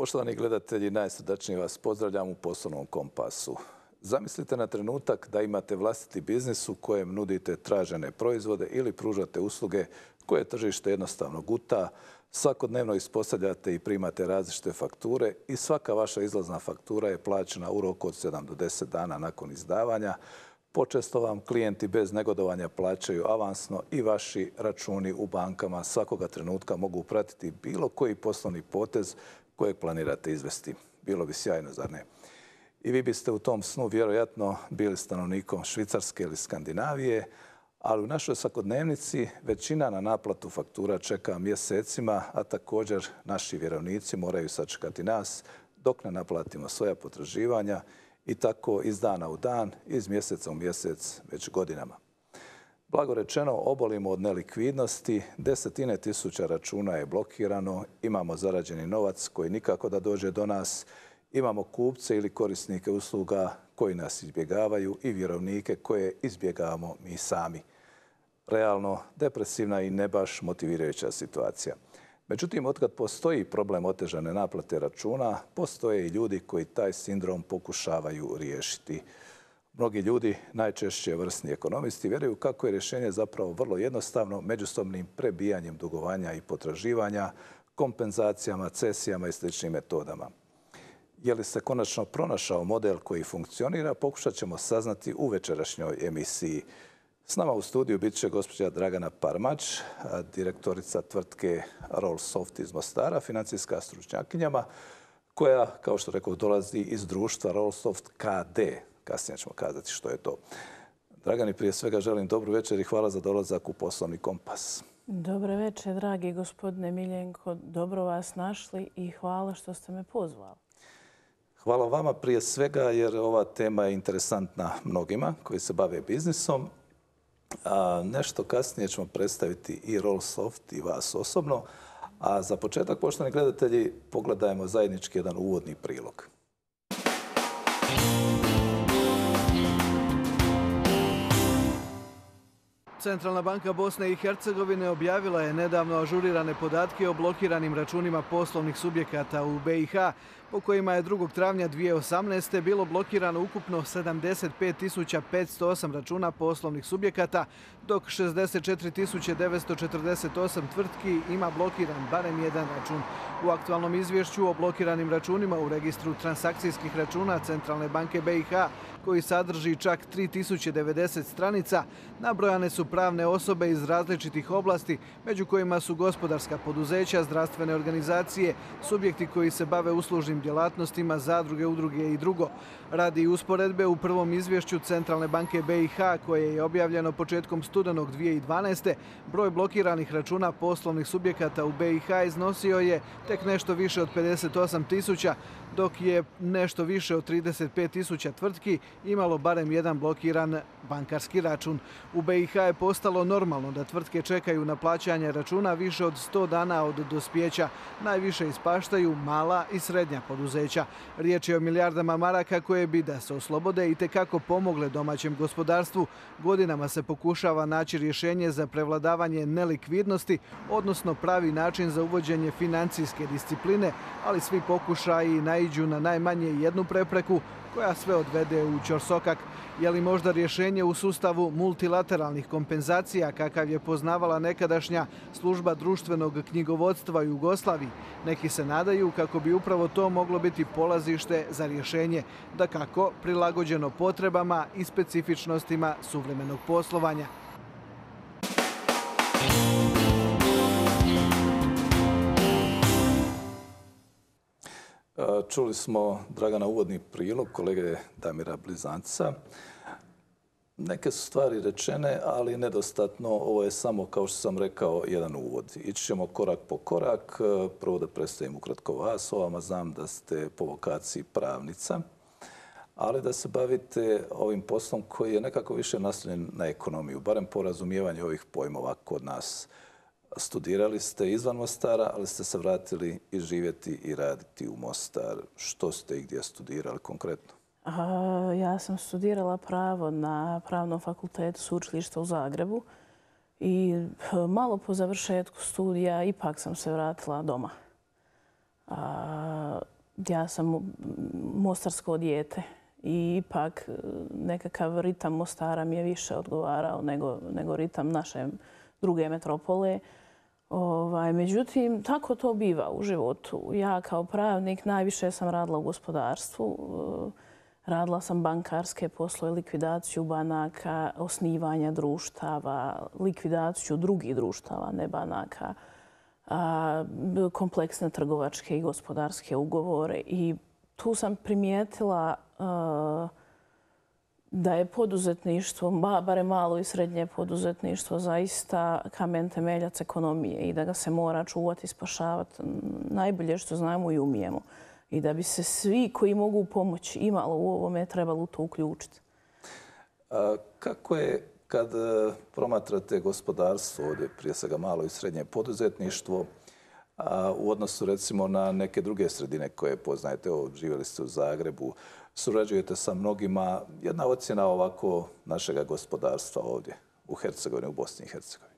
Poštovani gledatelji, najsrdačnije vas pozdravljam u Poslovnom kompasu. Zamislite na trenutak da imate vlastiti biznis u kojem nudite tražene proizvode ili pružate usluge koje tržište jednostavno guta, svakodnevno ispostavljate i primate različite fakture i svaka vaša izlazna faktura je plaćena u roku od 7 do 10 dana nakon izdavanja. Počesto vam klijenti bez negodovanja plaćaju avansno i vaši računi u bankama svakoga trenutka mogu pratiti bilo koji poslovni potez kojeg planirate izvesti. Bilo bi sjajno, zar ne? I vi biste u tom snu vjerojatno bili stanovnikom Švicarske ili Skandinavije, ali u našoj svakodnevnici većina na naplatu faktura čeka mjesecima, a također naši vjerovnici moraju sačekati nas dok ne naplatimo svoja potraživanja i tako iz dana u dan, iz mjeseca u mjesec, već godinama. Blago rečeno, obolimo od nelikvidnosti, desetine tisuća računa je blokirano, imamo zarađeni novac koji nikako da dođe do nas, imamo kupce ili korisnike usluga koji nas izbjegavaju i vjerovnike koje izbjegavamo mi sami. Realno, depresivna i ne baš motivirajuća situacija. Međutim, otkad postoji problem otežane naplate računa, postoje i ljudi koji taj sindrom pokušavaju riješiti. Mnogi ljudi, najčešće vrsni ekonomisti, vjeruju kako je rješenje zapravo vrlo jednostavno međusobnim prebijanjem dugovanja i potraživanja, kompenzacijama, cesijama i sličnim metodama. Je li se konačno pronašao model koji funkcionira, pokušat ćemo saznati u večerašnjoj emisiji. S nama u studiju bit će gospođa Dragana Parmać, direktorica tvrtke Rollsoft iz Mostara, financijska stručnjakinjama, koja, kao što rekao, dolazi iz društva Rollsoft KD. Kasnije ćemo kazati što je to. Dragani, prije svega želim dobru večer i hvala za dolazak u Poslovni kompas. Dobre večer, dragi gospodine Miljenko. Dobro vas našli i hvala što ste me pozvali. Hvala vama prije svega jer ova tema je interesantna mnogima koji se bave biznisom. Nešto kasnije ćemo predstaviti i Rollsoft i vas osobno. A za početak, poštovani gledatelji, pogledajmo zajednički jedan uvodni prilog. Centralna banka Bosne i Hercegovine objavila je nedavno ažurirane podatke o blokiranim računima poslovnih subjekata u BiH, po kojima je 2. travnja 2018. bilo blokirano ukupno 75.508 računa poslovnih subjekata, dok 64.948 tvrtki ima blokiran barem jedan račun. U aktualnom izvješću o blokiranim računima u registru transakcijskih računa Centralne banke BiH, koji sadrži čak 3090 stranica, nabrojane su pravne osobe iz različitih oblasti, među kojima su gospodarska poduzeća, zdravstvene organizacije, subjekti koji se bave uslužnim djelatnostima, zadruge, udruge i drugo. Radi usporedbe, u prvom izvješću Centralne banke BiH, koje je objavljeno početkom studenog 2012. broj blokiranih računa poslovnih subjekata u BiH iznosio je tek nešto više od 58.000, dok je nešto više od 35.000 tvrtki imalo barem jedan blokiran bankarski račun. U BiH je postalo normalno da tvrtke čekaju na plaćanje računa više od 100 dana od dospijeća. Najviše ispaštaju mala i srednja poduzeća. Riječ je o milijardama maraka koje bi, da se oslobode, i tekako pomogle domaćem gospodarstvu. Godinama se pokušava naći rješenje za prevladavanje nelikvidnosti, odnosno pravi način za uvođenje financijske discipline, ali svi pokušaji naiđu na najmanje jednu prepreku koja sve odvede u ćorsokak. Je li možda rješenje u sustavu multilateralnih kompenzacija kakav je poznavala nekadašnja služba društvenog knjigovodstva u Jugoslaviji? Neki se nadaju kako bi upravo to moglo biti polazište za rješenje, dakako prilagođeno potrebama i specifičnostima suvremenog poslovanja. Čuli smo, Dragana, uvodni prilog kolege Damira Blizanca. Neke su stvari rečene, ali nedostatno. Ovo je samo, kao što sam rekao, jedan uvod. Ići ćemo korak po korak. Prvo da predstavim ukratko vas. O vama znam da ste po vokaciji pravnica, ali da se bavite ovim poslom koji je nekako više naslonjen na ekonomiju, barem po razumijevanju ovih pojmova kod nas. Studirali ste izvan Mostara, ali ste se vratili i živjeti i raditi u Mostar. Što ste i gdje studirali konkretno? Ja sam studirala pravo na Pravnom fakultetu Sveučilišta u Zagrebu i malo po završetku studija ipak sam se vratila doma. Ja sam mostarsko dijete i ipak nekakav ritam Mostara mi je više odgovarao nego ritam naše druge metropole. Međutim, tako to biva u životu. Ja kao pravnik najviše sam radila u gospodarstvu. Radila sam bankarske poslove, likvidaciju banaka, osnivanja društava, likvidaciju drugih društava, ne banaka, kompleksne trgovačke i gospodarske ugovore. I tu sam primijetila da je poduzetništvo, barem malo i srednje poduzetništvo, zaista kamen temeljac ekonomije i da ga se mora čuvati i spašavati najbolje što znamo i umijemo. I da bi se svi koji mogu pomoći imalo u ovome trebalo u to uključiti. Kako je kad promatrate gospodarstvo ovdje, prije svega malo i srednje poduzetništvo, u odnosu recimo na neke druge sredine koje poznajete, živjeli ste u Zagrebu, surađujete sa mnogima. Jedna ocjena ovako našega gospodarstva ovdje u Hercegovini, u Bosni i Hercegovini.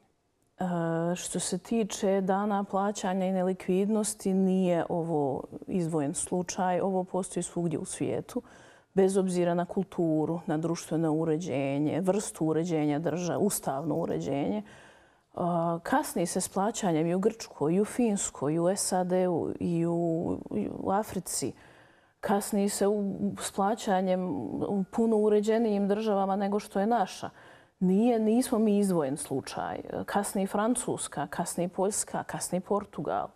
Što se tiče dana plaćanja i nelikvidnosti, nije ovo izdvojen slučaj. Ovo postoji svugdje u svijetu, bez obzira na kulturu, na društveno uređenje, vrstu uređenja države, ustavno uređenje. Kasni se s plaćanjem i u Grčkoj, i u Finskoj, i u SAD-u, i u Africi. Kasni se s plaćanjem u puno uređenijim državama nego što je naša. Nismo mi izdvojen slučaj. Kasni Francuska, kasni Poljska, kasni Portugal.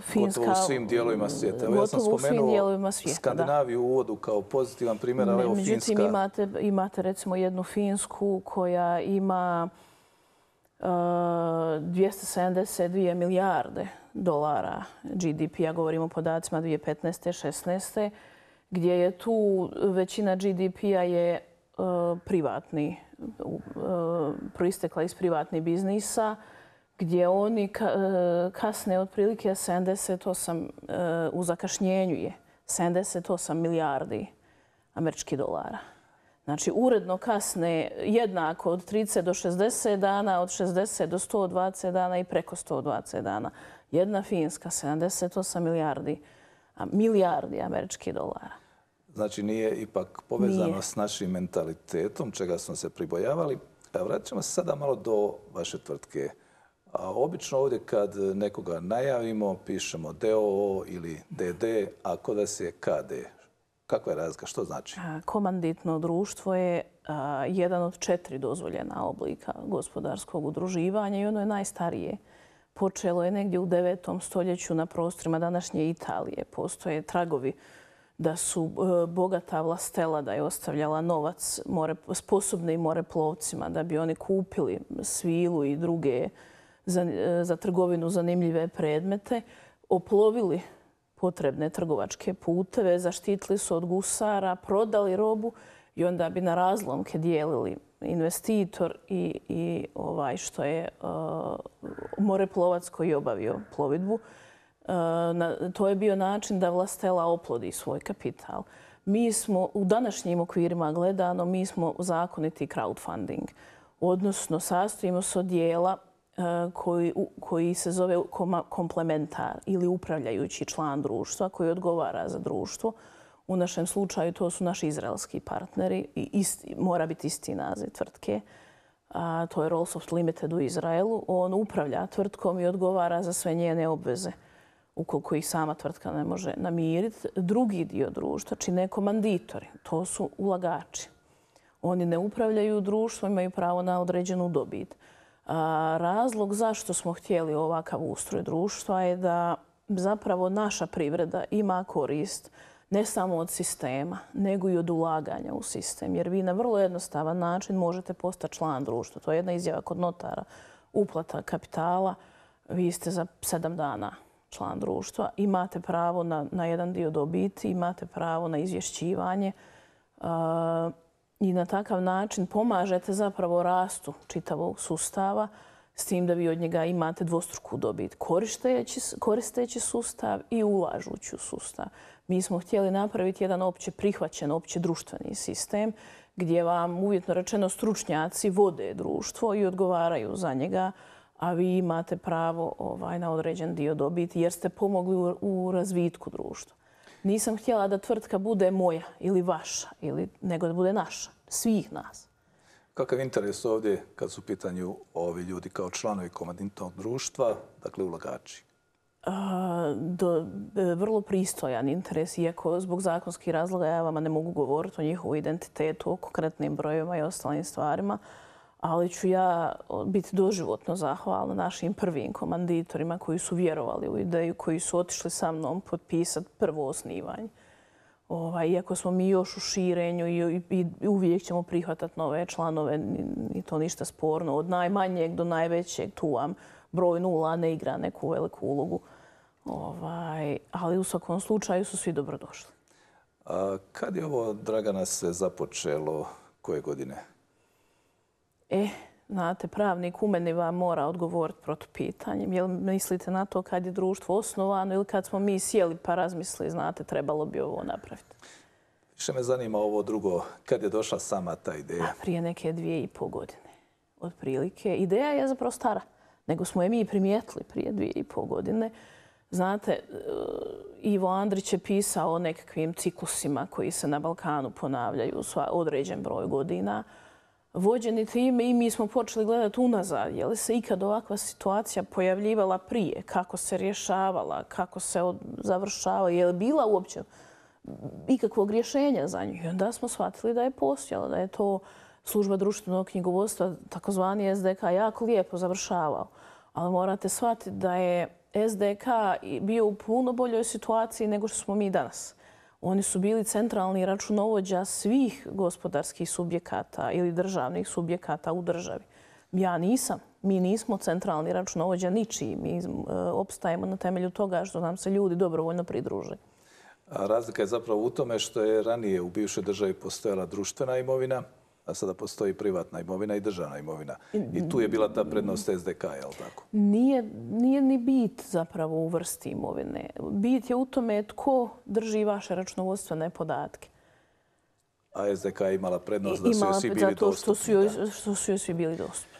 Finska, gotovo u svim dijelovima svijeta. Ja sam spomenuo Skandinaviju u uvodu kao pozitivan primjer, ali evo Finska. Međutim, imate recimo jednu Finsku koja ima 272 milijarde dolara GDP-a, govorimo o podacima 2015. 16. gdje je tu većina GDP-a je privatni, proistekla iz privatnih biznisa, gdje oni kasne otprilike 78, u zakašnjenju je 78 milijardi američkih dolara. Znači, uredno kasne jednako od 30 do 60 dana, od 60 do 120 dana i preko 120 dana. Jedna Finska, 78 milijardi američkih dolara. Znači, nije ipak povezano s našim mentalitetom, čega smo se pribojavali. Vratit ćemo se sada malo do vaše tvrtke. Obično ovdje kad nekoga najavimo, pišemo DOO ili DD, a kod vas je KD. Kakva je razlika? Što znači? Komanditno društvo je jedan od 4 dozvoljena oblika gospodarskog udruživanja i ono je najstarije. Počelo je negdje u 9. stoljeću na prostorima današnje Italije. Postoje tragovi da su bogata vlastela, da je ostavljala novac sposobnim moreplovcima, da bi oni kupili svilu i druge za trgovinu zanimljive predmete, oplovili potrebne trgovačke puteve, zaštitili su od gusara, prodali robu i onda bi na razlomke dijelili investitor i ovaj što je moreplovac koji je obavio plovidbu. To je bio način da vlastela oplodi svoj kapital. Mi smo u današnjim okvirima gledano, mi smo zakoniti crowdfunding. Odnosno, sastojimo se od dijela koji se zove komplementar ili upravljajući član društva koji odgovara za društvo. U našem slučaju to su naši izraelski partneri i mora biti isti naziv tvrtke. To je Rollsoft Limited u Izraelu. On upravlja tvrtkom i odgovara za sve njene obveze ukoliko ih sama tvrtka ne može namiriti. Drugi dio društva čine komanditori. To su ulagači. Oni ne upravljaju društvom, imaju pravo na određenu dobit. Razlog zašto smo htjeli ovakav ustroj društva je da zapravo naša privreda ima korist ne samo od sistema, nego i od ulaganja u sistem. Jer vi na vrlo jednostavan način možete postati član društva. To je jedna izjava kod notara. Uplata kapitala, vi ste za 7 dana član društva. Imate pravo na jedan dio dobiti, imate pravo na izvješćivanje i na takav način pomažete zapravo rastu čitavog sustava s tim da vi od njega imate dvostruku dobit koristeći sustav i ulažući u sustav. Mi smo htjeli napraviti jedan opće prihvaćen, opće društveni sistem gdje vam uvjetno rečeno stručnjaci vode društvo i odgovaraju za njega, a vi imate pravo na određen dio dobiti jer ste pomogli u razvitku društva. Nisam htjela da tvrtka bude moja ili vaša, nego da bude naša, svih nas. Kakav interes ovdje kad su u pitanju ovi ljudi kao članovi komanditnog društva, dakle ulagači? Vrlo pristojan interes, iako zbog zakonskih razloga ja vama ne mogu govoriti o njihovu identitetu, o konkretnim brojevima i ostalim stvarima, ali ću ja biti doživotno zahvalna našim prvim komanditorima koji su vjerovali u ideju, koji su otišli sa mnom potpisati prvo osnivanje. Iako smo mi još u širenju i uvijek ćemo prihvatati nove članove, ni to ništa sporno. Od najmanjeg do najvećeg tu vam broj 0 ne igra neku veliku ulogu. Ali u svakom slučaju su svi dobrodošli. Kad je ovo, Dragana, se započelo? Koje godine? Znate, pravnik u meni vam mora odgovoriti protupitanjem. Jel mislite na to kad je društvo osnovano ili kad smo mi sjeli pa razmislili, znate, trebalo bi ovo napraviti? Više me zanima ovo drugo, kad je došla sama ta ideja? Prije neke 2,5 godine, otprilike. Ideja je zapravo stara, nego smo je mi primijetili prije 2,5 godine. Znate, Ivo Andrić je pisao o nekakvim ciklusima koji se na Balkanu ponavljaju određen broj godina. Vođeni time i mi smo počeli gledati unazad. Je li se ikad ovakva situacija pojavljivala prije? Kako se rješavala? Kako se završavala? Je li bila uopće ikakvog rješenja za nju? I onda smo shvatili da je postojala, da je to služba društvenog knjigovodstva, takozvani SDK, jako lijepo završavao. Ali morate shvatiti da je SDK bio u puno boljoj situaciji nego što smo mi danas. Oni su bili centralni računovođa svih gospodarskih subjekata ili državnih subjekata u državi. Ja nisam. Mi nismo centralni računovođa ničiji. Mi opstajemo na temelju toga što nam se ljudi dobrovoljno pridruže. A razlika je zapravo u tome što je ranije u bivšoj državi postojala društvena imovina, a sada postoji privatna imovina i državna imovina. I tu je bila ta prednost SDK, je li tako? Nije ni bit zapravo u vrsti imovine. Bit je u tome tko drži vaše računovodstvene podatke. A SDK je imala prednost da su joj svi bili dostupni. Zato što su joj svi bili dostupni.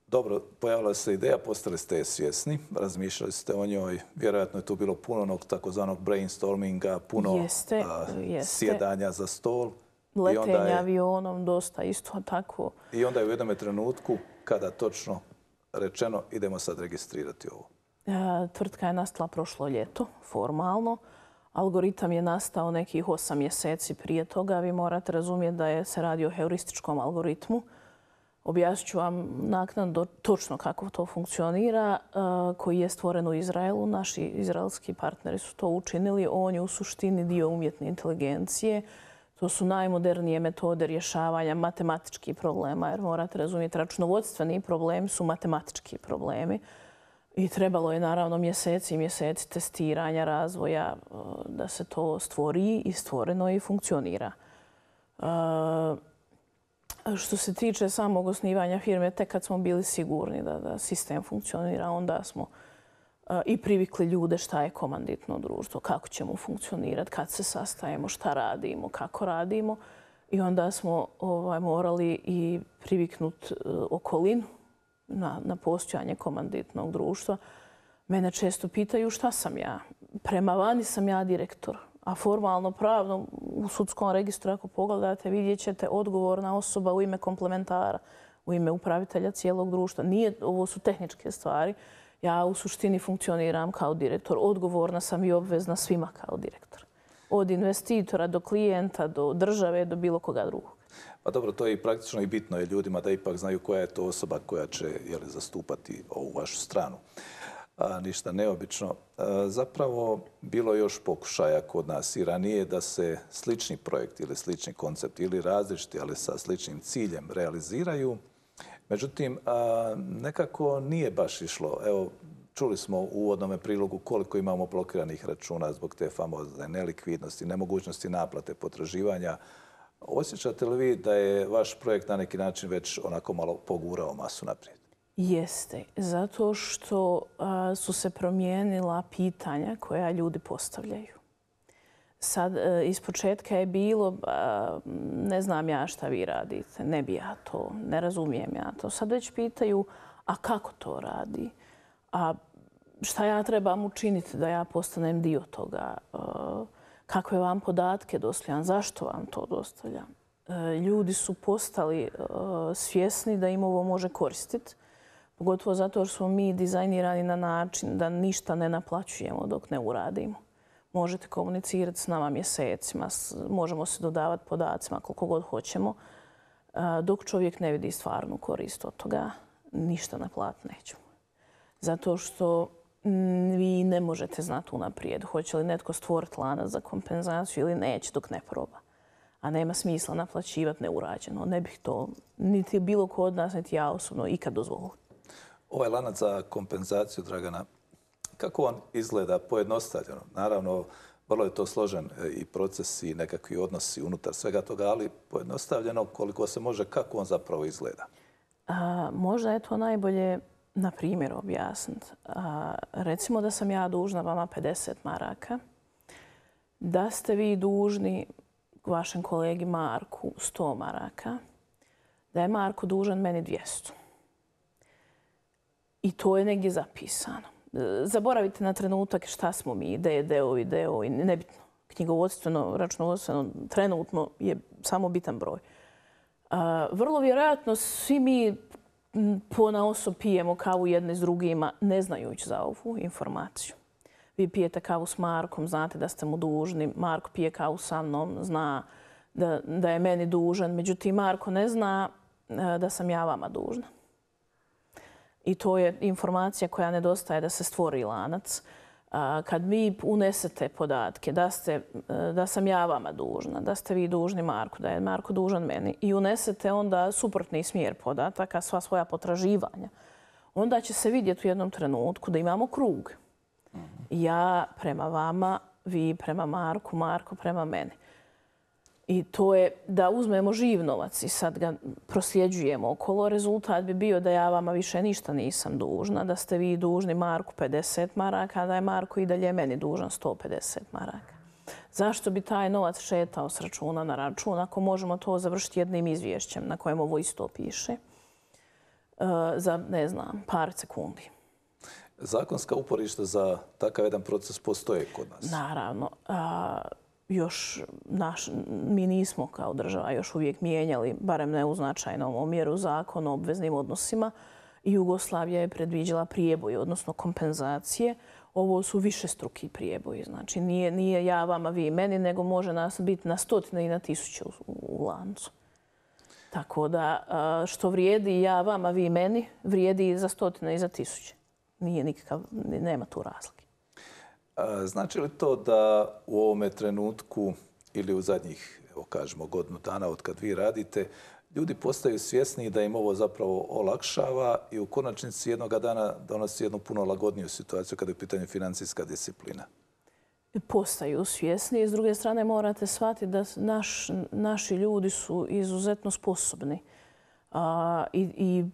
Dobro, pojavila se ideja, postali ste je svjesni, razmišljali ste o njoj. Vjerojatno je tu bilo puno onog takozvanog brainstorminga, puno sjedanja za stol. Letenja avionom, dosta isto tako. I onda je u jednom trenutku, kada točno rečeno, idemo sad registrirati ovo. Tvrtka je nastala prošlo ljeto, formalno. Algoritam je nastao nekih 8 mjeseci prije toga. Vi morate razumjeti da se radi o heurističkom algoritmu. Objasnit ću vam naknadno točno kako to funkcionira, koji je stvoren u Izraelu. Naši izraelski partneri su to učinili. On je u suštini dio umjetne inteligencije. To su najmodernije metode rješavanja matematičkih problema, jer morate razumjeti, računovodstveni problemi su matematički problemi. I trebalo je naravno mjeseci i mjeseci testiranja, razvoja da se to stvori i stvoreno i funkcionira. Što se tiče samog osnivanja firme, tek kad smo bili sigurni da sistem funkcionira, onda smo i privikli ljude šta je komanditno društvo, kako ćemo funkcionirati, kad se sastajemo, šta radimo, kako radimo. I onda smo morali i priviknuti okolinu na postojanje komanditnog društva. Mene često pitaju šta sam ja. Prema vani sam ja direktor, a formalno pravno u sudskom registru, ako pogledate, vidjet ćete odgovorna osoba u ime komplementara, u ime upravitelja cijelog društva. Ovo su tehničke stvari. Ja u suštini funkcioniram kao direktor. Odgovorna sam i obvezna svima kao direktor. Od investitora do klijenta, do države, do bilo koga drugog. Pa dobro, to je i praktično i bitno je ljudima da ipak znaju koja je to osoba koja će zastupati ovu vašu stranu. Ništa neobično. Zapravo, bilo je još pokušaja kod nas i ranije da se slični projekt ili slični koncept ili različiti, ali sa sličnim ciljem realiziraju. Međutim, nekako nije baš išlo. Evo, čuli smo u uvodnom prilogu koliko imamo blokiranih računa zbog te famozne nelikvidnosti, nemogućnosti naplate potraživanja. Osjećate li vi da je vaš projekt na neki način već onako malo pogurao masu naprijed? Jeste, zato što su se promijenila pitanja koja ljudi postavljaju. Sad, ispočetka je bilo, ne znam ja šta vi radite, ne bi ja to, ne razumijem ja to. Sad već pitaju, A kako to radi? A šta ja trebam učiniti da ja postanem dio toga? Kakve vam podatke dostavljam? Zašto vam to dostavljam? Ljudi su postali svjesni da im ovo može koristiti. Pogotovo zato jer smo mi dizajnirani na način da ništa ne naplaćujemo dok ne uradimo. Možete komunicirati s nama mjesecima, možemo se dodavati podacima koliko god hoćemo. Dok čovjek ne vidi stvarnu korist od toga, ništa naplatiti nećemo. Zato što vi ne možete znati unaprijed hoće li netko stvoriti lanac za kompenzaciju ili neće dok ne proba. A nema smisla naplaćivati neurađeno. Ne bih to niti bilo ko od nas, niti ja osobno ikad dozvolila. Ovaj lanac za kompenzaciju, Dragana, kako on izgleda pojednostavljeno? Naravno, vrlo je to složen i proces i nekakvi odnosi unutar svega toga, ali pojednostavljeno koliko se može, kako on zapravo izgleda? Možda je to najbolje na primjer objasniti. Recimo da sam ja dužna vama 50 maraka, da ste vi dužni vašem kolegi Marku 100 maraka, da je Marko dužan meni 200. I to je negdje zapisano. Zaboravite na trenutak šta smo mi, D.O.I., nebitno. Knjigovodstveno, računovodstveno, trenutno je samo bitan broj. Vrlo vjerojatno svi mi ponaosob pijemo kavu jedni s drugima, ne znajući za ovu informaciju. Vi pijete kavu s Markom, znate da ste mu dužni. Marko pije kavu sa mnom, zna da je meni dužan. Međutim, Marko ne zna da sam ja vama dužna. I to je informacija koja nedostaje da se stvori lanac. Kad vi unesete podatke da sam ja vama dužna, da ste vi dužni Marku, da je Marko dužan meni i unesete onda suprotni smjer podataka, sva svoja potraživanja, onda će se vidjeti u jednom trenutku da imamo krug. Ja prema vama, vi prema Marku, Marko prema meni. I to je da uzmemo živ novac i sad ga prosljeđujemo okolo. Rezultat bi bio da ja vama više ništa nisam dužna, da ste vi dužni Marku 50 maraka, a da je Marko i dalje meni dužan 150 maraka. Zašto bi taj novac šetao s računa na račun ako možemo to završiti jednim izvješćem na kojem ovo isto piše za, ne znam, par sekundi? Zakonska uporišta za takav jedan proces postoje kod nas? Naravno. Mi nismo kao država još uvijek mijenjali, barem ne u značajnom omjeru, zakon o obveznim odnosima. Jugoslavija je predviđala prijeboj, odnosno kompenzacije. Ovo su višestruki prijeboji. Znači, nije ja vama, vi meni, nego može nas biti na stotine i na tisuće u lancu. Tako da što vrijedi ja vama, vi meni, vrijedi i za stotine i za tisuće. Nema tu razlike. Znači li to da u ovome trenutku ili u zadnjih, kažemo, godinu dana od kad vi radite, ljudi postaju svjesni da im ovo zapravo olakšava i u konačnici jednoga dana donosi jednu puno lagodniju situaciju kada je u pitanju financijska disciplina? Postaju svjesni i s druge strane morate shvatiti da naši ljudi su izuzetno sposobni i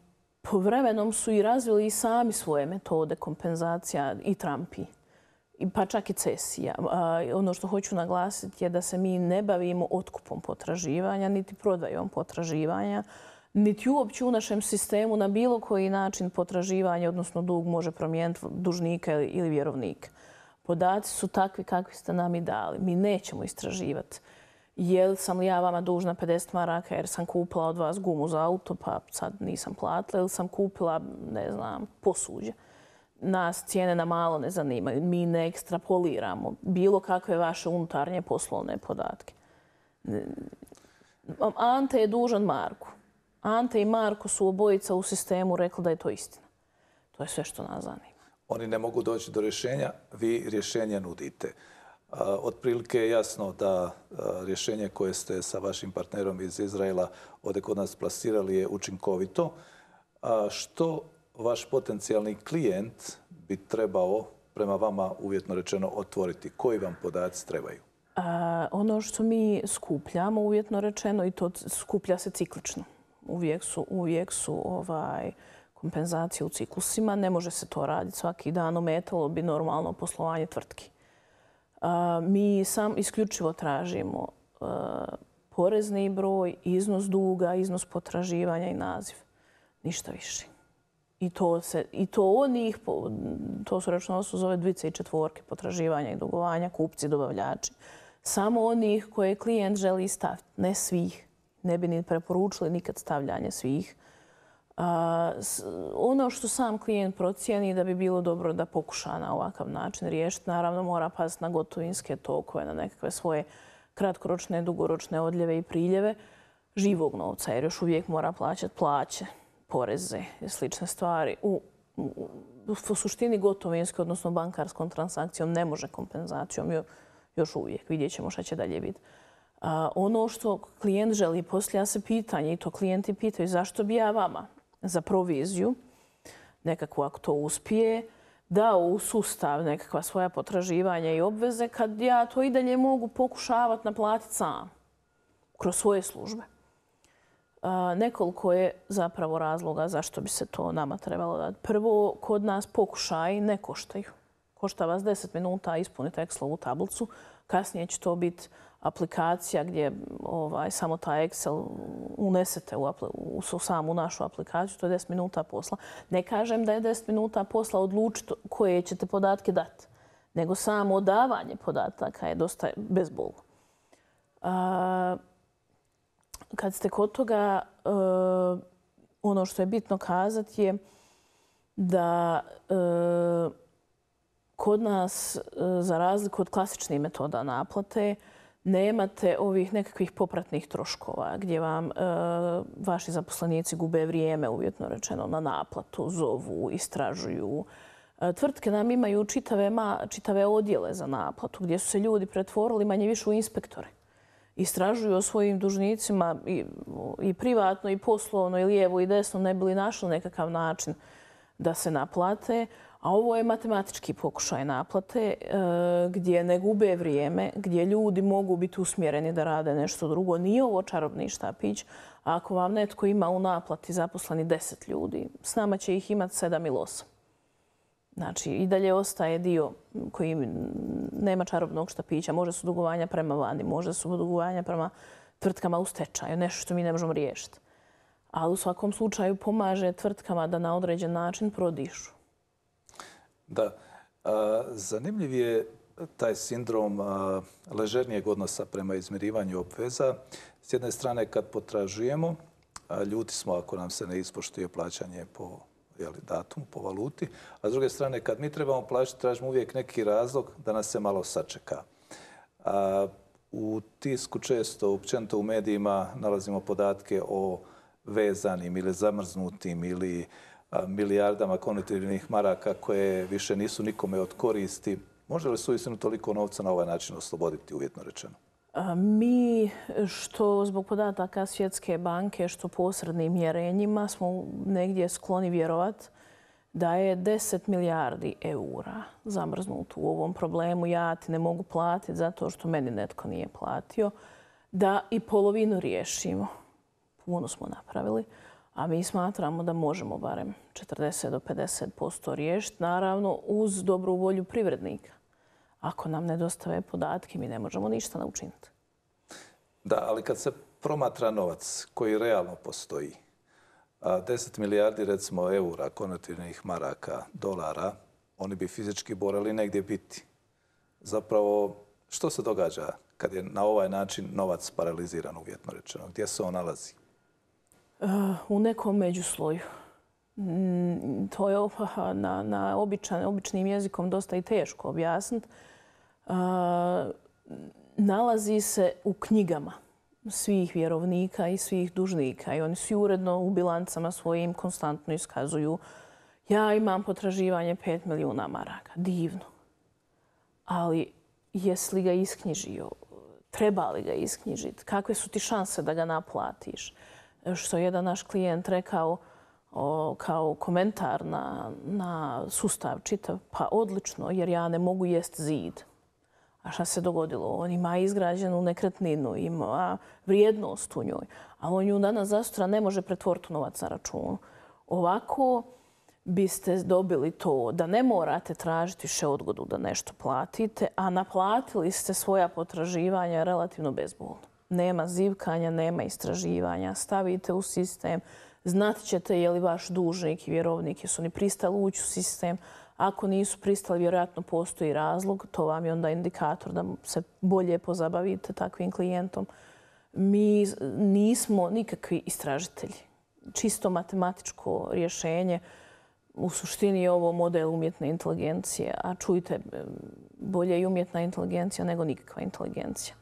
povremenom su i razvili i sami svoje metode kompenzacija i trampi. Pa čak i cesija. Ono što hoću naglasiti je da se mi ne bavimo otkupom potraživanja, niti prodajom potraživanja, niti uopće u našem sistemu na bilo koji način potraživanje, odnosno dug, može promijeniti dužnika ili vjerovnika. Podaci su takvi kakvi ste nam i dali. Mi nećemo istraživati. Jel sam li ja vama dužna 50 maraka jer sam kupila od vas gumu za auto, pa sad nisam platila, ili sam kupila, ne znam, posuđe. Nas cijene na malo ne zanimaju. Mi ne ekstrapoliramo bilo kakve vaše unutarnje poslovne podatke. Ante je dužan Marku. Ante i Marko su obojica u sistemu rekli da je to istina. To je sve što nas zanima. Oni ne mogu doći do rješenja, vi rješenja nudite. Otprilike je jasno da rješenje koje ste sa vašim partnerom iz Izraela ovdje kod nas plasirali je učinkovito. Što vaš potencijalni klijent bi trebao prema vama, uvjetno rečeno, otvoriti? Koji vam podaci trebaju? Ono što mi skupljamo, uvjetno rečeno, i to skuplja se ciklično. Uvijek su kompenzacije u ciklusima. Ne može se to raditi svaki dan. Ometalo bi normalno poslovanje tvrtki. Mi sam isključivo tražimo porezni broj, iznos duga, iznos potraživanja i naziv. Ništa više. I to onih, to su računovodstvo zove dvice i četvorke, potraživanja i dugovanja, kupci, dobavljači. Samo onih koje klijent želi staviti, ne svih. Ne bi ni preporučili nikad stavljanje svih. Ono što sam klijent procijeni da bi bilo dobro da pokuša na ovakav način riješiti, naravno mora paziti na gotovinske tokove, na nekakve svoje kratkoročne, dugoročne odljeve i priljeve živog novca, jer još uvijek mora plaćati plaće, poreze i slične stvari. U suštini gotovinske, odnosno bankarskom transakcijom ne može kompenzacijom još uvijek. Vidjet ćemo šta će dalje biti. Ono što klijent želi, postavlja se pitanje i to klijenti pitaju zašto bi ja vama za proviziju, nekako ako to uspije, dao u sustav nekakva svoja potraživanja i obveze kad ja to i dalje mogu pokušavati naplatiti sam kroz svoje službe. Nekoliko je zapravo razloga zašto bi se to nama trebalo dati. Prvo, kod nas pokušaji ne koštaju. Košta vas 10 minuta ispuniti Excelovu tablicu. Kasnije će to biti aplikacija gdje samo taj Excel unesete u samu našu aplikaciju. To je 10 minuta posla. Ne kažem da je 10 minuta posla odlučiti koje ćete podatke dati, nego samo davanje podataka je dosta bezbolno. Kad ste kod toga, ono što je bitno kazati je da kod nas, za razliku od klasičnih metoda naplate, nemate ovih nekakvih popratnih troškova gdje vam vaši zaposlenici gube vrijeme, uvjetno rečeno, na naplatu, zovu, istražuju. Tvrtke nam imaju čitave odjele za naplatu gdje su se ljudi pretvorili manje više u inspektore. Istražuju o svojim dužnicima i privatno i poslovno i lijevo i desno ne bi li našli nekakav način da se naplate. A ovo je matematički pokušaj naplate gdje ne gube vrijeme, gdje ljudi mogu biti usmjereni da rade nešto drugo. Nije ovo čarobni štapić. Ako vam netko ima u naplati zaposleni 10 ljudi, s nama će ih imati 7 ili 8. Znači, i dalje ostaje dio koji nema čarobnog štapića. Može su dugovanja prema vani, može su dugovanja prema tvrtkama u stečaju, nešto što mi ne možemo riješiti. Ali u svakom slučaju pomaže tvrtkama da na određen način prodišu. Da. Zanimljiv je taj sindrom ležernijeg odnosa prema izmirivanju obveza. S jedne strane, kad potražujemo, ljuti smo ako nam se ne ispoštuje plaćanje po datumu, po valuti. A s druge strane, kad mi trebamo plaćati, tražimo uvijek neki razlog da nas se malo sačeka. U tisku često, općenito u medijima, nalazimo podatke o vezanim ili zamrznutim ili milijardama konvertibilnih maraka koje više nisu nikome od koristi. Može li se uistinu toliko novca na ovaj način osloboditi, uvjetno rečeno? Mi, što zbog podataka Svjetske banke, što posrednim mjerenjima, smo negdje skloni vjerovati da je 10 milijardi eura zamrznuto u ovom problemu. Ja ti ne mogu platiti zato što meni netko nije platio. Da i polovinu riješimo. Puno smo napravili. A mi smatramo da možemo barem 40 do 50% riješiti, naravno uz dobru volju privrednika. Ako nam ne dostave podatke, mi ne možemo ništa učiniti. Da, ali kad se promatra novac koji realno postoji, 10 milijardi recimo eura, konvertibilnih maraka, dolara, oni bi fizički morali negdje biti. Zapravo, što se događa kad je na ovaj način novac paraliziran, uvjetno rečeno? Gdje se on nalazi? U nekom međusloju. To je na običnim jezikom dosta i teško objasniti. Nalazi se u knjigama svih vjerovnika i svih dužnika i oni svi uredno u bilancama svojim konstantno iskazuju ja imam potraživanje 5 milijuna maraka. Divno. Ali jesi li ga isknjižio? Treba li ga isknjižiti? Kakve su ti šanse da ga naplatiš? Što je jedan naš klijent rekao kao komentar na sustav čitav, pa odlično, jer ja ne mogu jest zid. A šta se dogodilo? On ima izgrađenu nekretninu, ima vrijednost u njoj, ali on ju danas zasutra ne može pretvoriti u novac na računu. Ovako biste dobili to da ne morate tražiti više odgodu da nešto platite, a naplatili ste svoja potraživanja relativno bezbolno. Nema zivkanja, nema istraživanja. Stavite u sistem, Znat ćete je li vaš dužnik i vjerovnik jesu oni pristali ući u sistem. Ako nisu pristali, vjerojatno postoji razlog. To vam je onda indikator da se bolje pozabavite takvim klijentom. Mi nismo nikakvi istražitelji. Čisto matematičko rješenje. U suštini je ovo model umjetne inteligencije. A čujte, bolje je umjetna inteligencija nego nikakva inteligencija.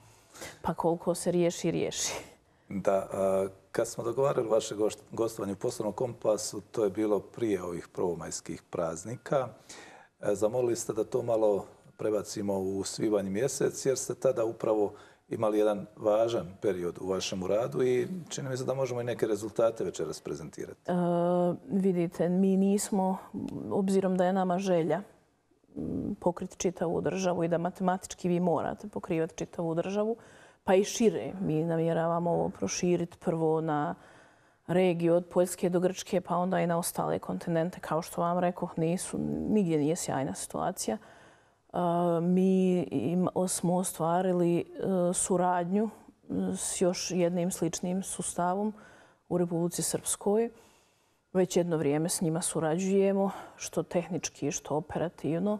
Pa koliko se riješi, riješi. Da, kad smo dogovarali vaše gostovanje u Poslovnom kompasu, to je bilo prije ovih prvomajskih praznika. Zamolili ste da to malo prebacimo u svibanj mjesec, jer ste tada upravo imali jedan važan period u vašem radu i čini mi se da možemo i neke rezultate večeras prezentirati. Vidite, mi nismo, obzirom da je nama želja pokriti čitavu državu i da matematički vi morate pokrivati čitavu državu, pa i šire. Mi namjeravamo ovo proširiti prvo na regiju od Poljske do Grčke, pa onda i na ostale kontinente. Kao što vam rekoh, nigdje nije sjajna situacija. Mi smo ostvarili suradnju s još jednim sličnim sustavom u Republici Srpskoj. Već jedno vrijeme s njima surađujemo, što tehnički, što operativno.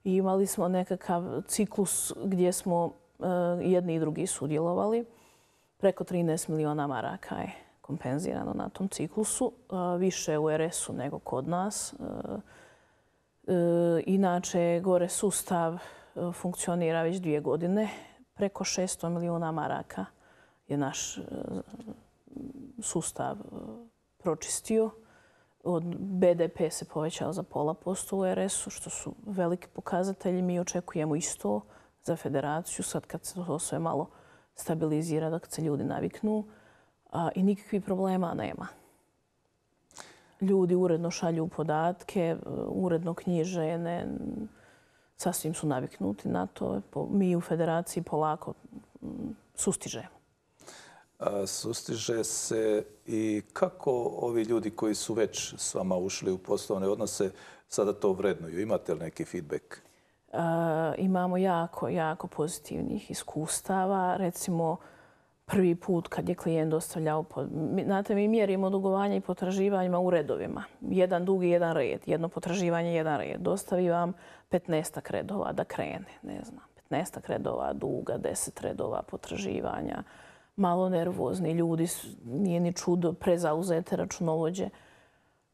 I imali smo nekakav ciklus gdje smo jedni i drugi sudjelovali. Preko 13 miliona maraka je kompenzirano na tom ciklusu. Više u RS-u nego kod nas. Inače, gore sustav funkcionira već 2 godine. Preko 600 miliona maraka je naš sustav pročistio. BDP se povećao za 0,5% u RS-u, što su veliki pokazatelji. Mi očekujemo isto za federaciju, sad kad se to sve malo stabilizira, da kad se ljudi naviknu. I nikakvih problema nema. Ljudi uredno šalju podatke, uredno knjiže, sasvim su naviknuti na to. Mi u federaciji polako sustižemo. Sustiže se i kako ovi ljudi koji su već s vama ušli u poslovne odnose sada to vrednuju? Imate li neki feedback? Imamo jako pozitivnih iskustava. Recimo, prvi put kad je klijent dostavljao... Znate, mi mjerimo dugovanja i potraživanjima u redovima. Jedan dug i jedan red. Jedno potraživanje, jedan red. Dostavi vam 15 redova da krene. Ne znam, 15 redova duga, 10 redova potraživanja. Malo nervozni ljudi, nije ni čudo, prezauzete računovođe.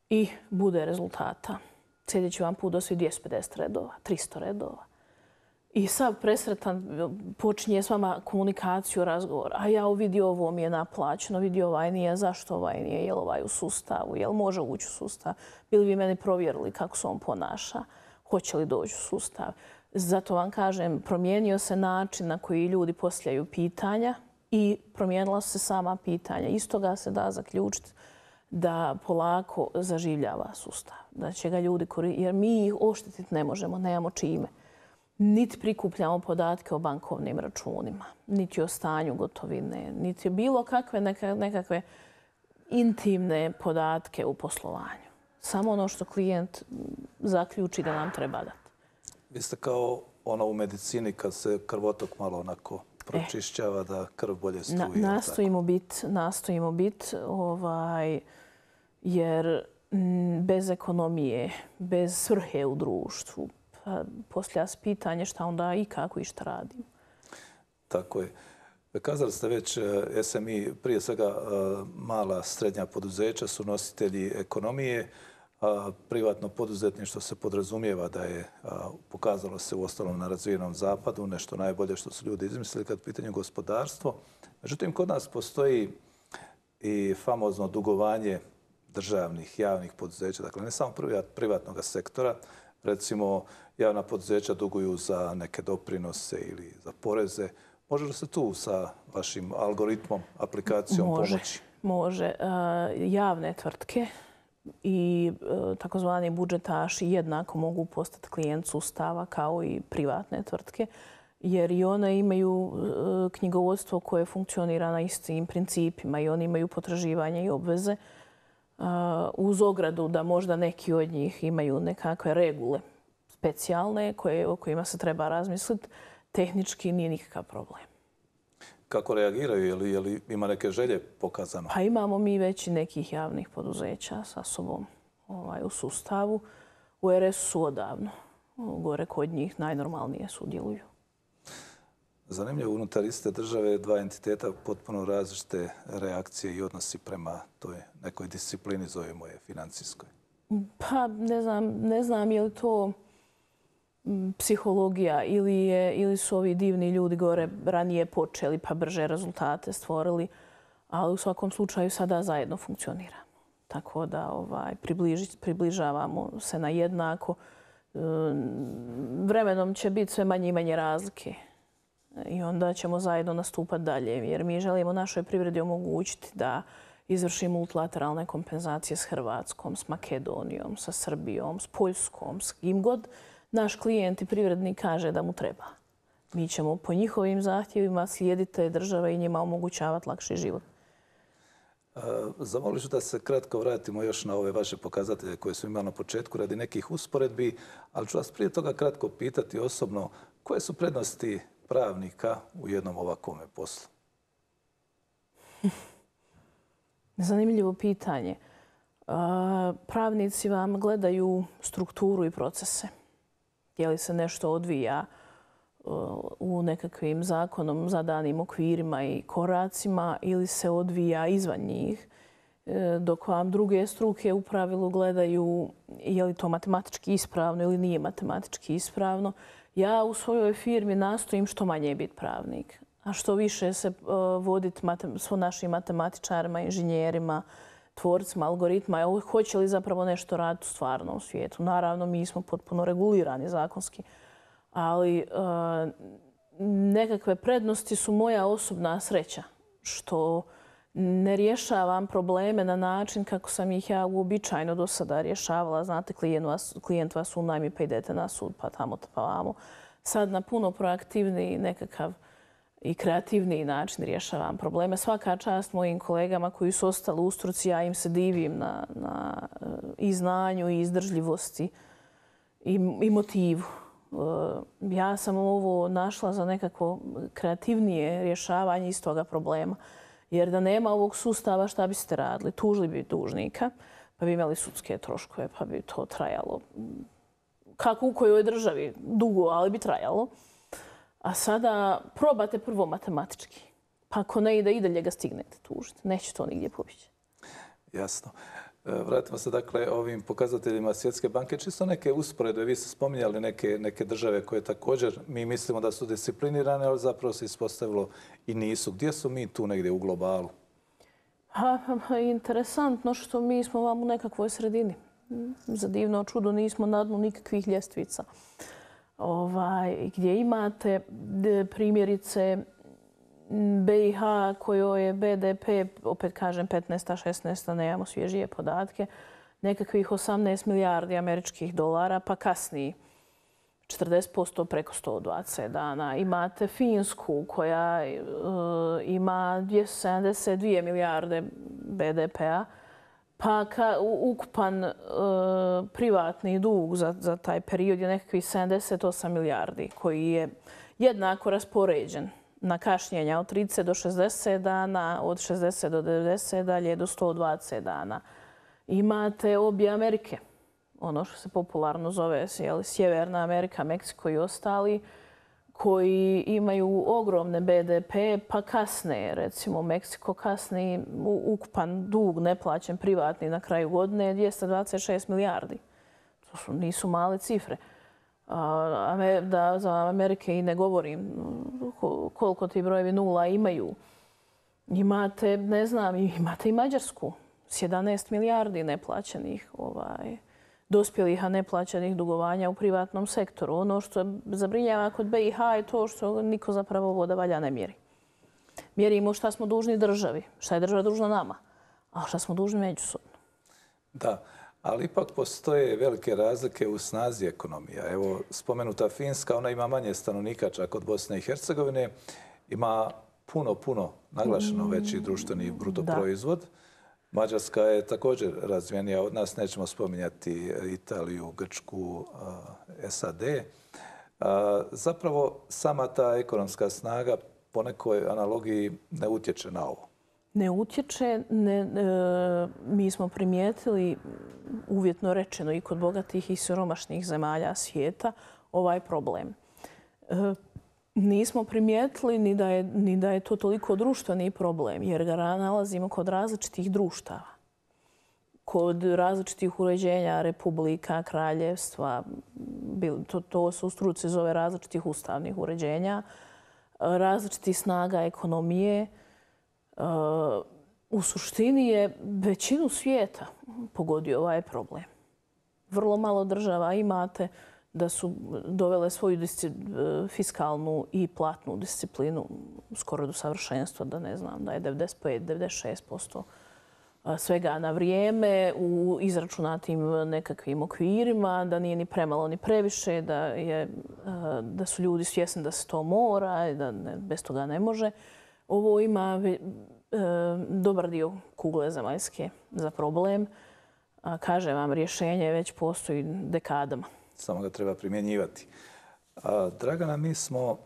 I bude rezultata. Sljedeći vam put dostavi 250 redova, 300 redova. I sad presretan počinje s vama komunikaciju, razgovor. A ja vidio ovo mi je naplaćeno, vidio ovaj nije, zašto ovaj nije, je li ovaj u sustavu, je li može ući u sustav, bili bi meni provjerili kako se on ponaša, hoće li doći u sustav. Zato vam kažem, promijenio se način na koji ljudi postavljaju pitanja i promijenila se sama pitanja. Iz toga se da zaključiti da polako zaživljava sustav, da će ga ljudi koristiti, jer mi ih oštetiti ne možemo, nemamo čime. Niti prikupljamo podatke o bankovnim računima, niti o stanju gotovine, niti bilo kakve nekakve intimne podatke u poslovanju. Samo ono što klijent zaključi da nam treba dati. Vi ste kao ono u medicini kad se krvotok malo onako pročišćava da krv bolje struje. Nastojimo biti, jer bez ekonomije, bez svrhe u društvu, poslije se pitanje šta onda i kako i šta radimo. Tako je. Kazali ste već SMI, prije svega mala srednja poduzeća su nositelji ekonomije. Privatno poduzetništvo se podrazumijeva da je, pokazalo se uostalom na razvijenom zapadu, nešto najbolje što su ljudi izmislili kad pitanje gospodarstvo. Međutim, kod nas postoji i famozno dugovanje državnih, javnih poduzeća, dakle ne samo privatnog sektora. Recimo, javna poduzeća duguju za neke doprinose ili za poreze. Može li se tu sa vašim algoritmom, aplikacijom pomoći? Može. Javne tvrtke i takozvani budžetaši jednako mogu postati klijent sustava kao i privatne tvrtke, jer i one imaju knjigovodstvo koje funkcionira na istim principima i oni imaju potraživanje i obveze, uz ogradu da možda neki od njih imaju nekakve regule specijalne o kojima se treba razmisliti. Tehnički nije nikakav problem. kako reagiraju? Je li ima neke želje pokazano? Pa imamo mi već i nekih javnih poduzeća sa sobom u sustavu. U RS su odavno. Gore kod njih najnormalnije sudjeluju. Zanimljivo, unutar iste države dva entiteta potpuno različite reakcije i odnosi prema toj nekoj disciplini, zovemo je financijskoj. Pa ne znam je li to psihologija ili su ovi divni ljudi gore ranije počeli pa brže rezultate stvorili, ali u svakom slučaju sada zajedno funkcionira. Tako da približavamo se na jednako. Vremenom će biti sve manje i manje razlike i onda ćemo zajedno nastupati dalje, jer mi želimo našoj privredi omogućiti da izvrši multilateralne kompenzacije s Hrvatskom, s Makedonijom, sa Srbijom, s Poljskom, s kim god naš klijent i privrednik kaže da mu treba. Mi ćemo po njihovim zahtjevima slijediti te države i njima omogućavati lakši život. Zamolit ću da se kratko vratimo još na ove vaše pokazatelje koje smo imali na početku radi nekih usporedbi, ali ću vas prije toga kratko pitati osobno koje su prednosti pravnika u jednom ovakvome poslu? Zanimljivo pitanje. Pravnici vam gledaju strukturu i procese. Je li se nešto odvija u nekakvim zakonom zadanim okvirima i koracima ili se odvija izvan njih, dok vam druge struke u pravilu gledaju je li to matematički ispravno ili nije matematički ispravno. Ja u svojoj firmi nastojim što manje biti pravnik, a što više se voditi s našim matematičarima, inženjerima, tvorcima algoritma, hoće li zapravo nešto raditi u stvarnom svijetu. Naravno, mi smo potpuno regulirani zakonski, ali nekakve prednosti su moja osobna sreća, što ne rješavam probleme na način kako sam ih ja uobičajeno do sada rješavala. Znate, klijent vas unajmi pa idete na sud, pa tamo, pa vamo. Sad na puno proaktivniji nekakav i kreativniji način rješavam probleme. Svaka čast mojim kolegama koji su ostali u struci, ja im se divim na i znanju i izdržljivosti i motivu. Ja sam ovo našla za nekako kreativnije rješavanje istoga problema. Jer da nema ovog sustava šta biste radili? Tužili bi dužnika, pa bi imali sudske troškove, pa bi to trajalo. Kako u kojoj državi? Dugo, ali bi trajalo. A sada probate prvo matematički. Pa ako ne ide, i dalje ga stignete tužiti. Neće to nigdje pobjeći. Jasno. Vratimo se dakle ovim pokazateljima Svjetske banke. Čisto neke usporedbe. Vi ste spominjali neke države koje također mi mislimo da su disciplinirane, ali zapravo se ispostavilo i nisu. Gdje su mi tu negdje u globalu? Interesantno što mi smo vam u nekakvoj sredini. Za divno čudo nismo na dnu nikakvih ljestvica. Gdje imate primjerice BiH kojoj je BDP, opet kažem 15. 16. nemamo svježije podatke, nekakvih 18 milijardi američkih dolara, pa kasnije 40% preko 120 dana. Imate Finsku koja ima 272 milijarde BDP-a, pa ukupan privatni dug za taj period je nekakvih 78 milijardi koji je jednako raspoređen na kašnjenja od 30 do 60 dana, od 60 do 90 dalje do 120 dana. Imate obje Amerike, ono što se popularno zove Sjeverna Amerika, Meksiko i ostali, koji imaju ogromne BDP, pa kasne, recimo Meksiko kasni ukupan dug neplaćen privatni na kraju godine je 226 milijardi. To nisu male cifre. Da za Amerike i ne govorim koliko ti brojevi nula imaju. Imate, ne znam, imate i Mađarsku s 11 milijardi neplaćenih dospjelih, a neplaćenih dugovanja u privatnom sektoru. Ono što zabrinjava kod BiH je to što niko zapravo voda valja ne mjeri. Mjerimo šta smo dužni državi, šta je država dužna nama, a šta smo dužni međusobno. Da, ali ipak postoje velike razlike u snazi ekonomija. Evo, spomenuta Finska, ona ima manje stanovnika čak od Bosne i Hercegovine, ima puno naglašeno veći društveni brutoproizvod. Mađarska je također razvijenija od nas, nećemo spominjati Italiju, Grčku, SAD. Zapravo, sama ta ekonomska snaga po nekoj analogiji ne utječe na ovo? Ne utječe. Mi smo primijetili, uvjetno rečeno, i kod bogatih i siromašnih zemalja svijeta ovaj problem. Nismo primijetili ni da je to toliko društveni problem, jer ga nalazimo kod različitih društava. Kod različitih uređenja republika, kraljevstva, to se u struci zove različitih ustavnih uređenja, različitih snaga ekonomije. U suštini je većinu svijeta pogodio ovaj problem. Vrlo malo država imate da su dovele svoju fiskalnu i platnu disciplinu skoro do savršenstva, da ne znam, da je 95-96% svega na vrijeme u izračunatim nekakvim okvirima, da nije ni premalo ni previše, da su ljudi svjesni da se to mora i da bez toga ne može. Ovo ima dobar dio kugle zemaljske za problem. Kažem vam, rješenje već postoji dekadama. Samo ga treba primjenjivati. Dragana, mi smo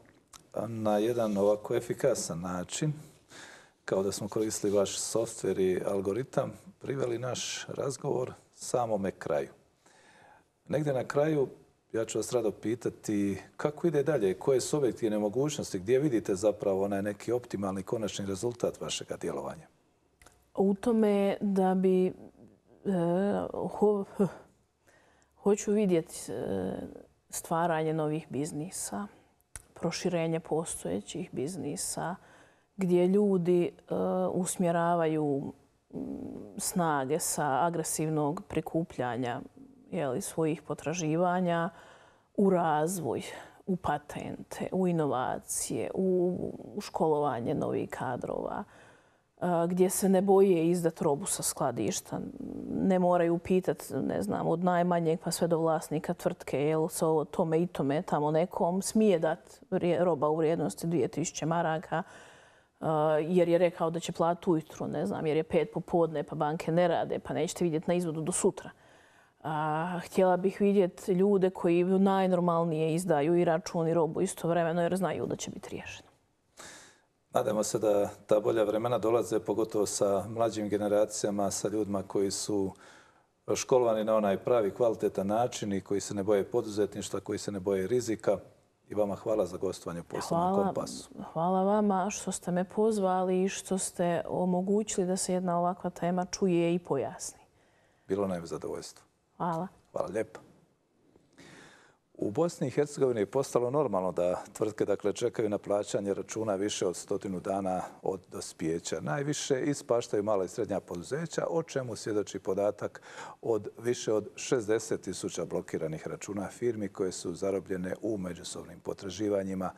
na jedan ovako efikasan način, kao da smo koristili vaš softver i algoritam, priveli naš razgovor samome kraju. Negdje na kraju ja ću vas rado pitati kako ide dalje, koje su objektivne mogućnosti, gdje vidite zapravo onaj neki optimalni konačni rezultat vašega djelovanja? U tome da bi hoću vidjeti stvaranje novih biznisa, proširenje postojećih biznisa, gdje ljudi usmjeravaju snage sa agresivnog prikupljanja svojih potraživanja u razvoj, u patente, u inovacije, u školovanje novih kadrova, gdje se ne boje izdati robu sa skladišta. Ne moraju pitati, ne znam, od najmanjeg pa sve do vlasnika tvrtke, jel se ovo tome i tome tamo nekom smije dati roba u vrijednosti 2000 maraka, jer je rekao da će platiti ujutru, ne znam, jer je 5 popodne pa banke ne rade, pa nećete vidjeti na izvodu do sutra. Htjela bih vidjeti ljude koji najnormalnije izdaju i račun i robu istovremeno jer znaju da će biti riješeno. Nadamo se da ta bolja vremena dolaze, pogotovo sa mlađim generacijama, sa ljudima koji su školovani na onaj pravi kvalitetan način i koji se ne boje poduzetništva, koji se ne boje rizika. I vama hvala za gostovanje u Poslovnom kompasu. Hvala vama što ste me pozvali i što ste omogućili da se jedna ovakva tema čuje i pojasni. Bilo nam je zadovoljstvo. Hvala. Hvala lijepo. U Bosni i Hercegovini je postalo normalno da tvrtke čekaju na plaćanje računa više od 100 dana od dospijeća. Najviše ispaštaju mala i srednja poduzeća, o čemu svjedoči podatak od više od 60.000 blokiranih računa firmi koje su zarobljene u međusobnim potraživanjima.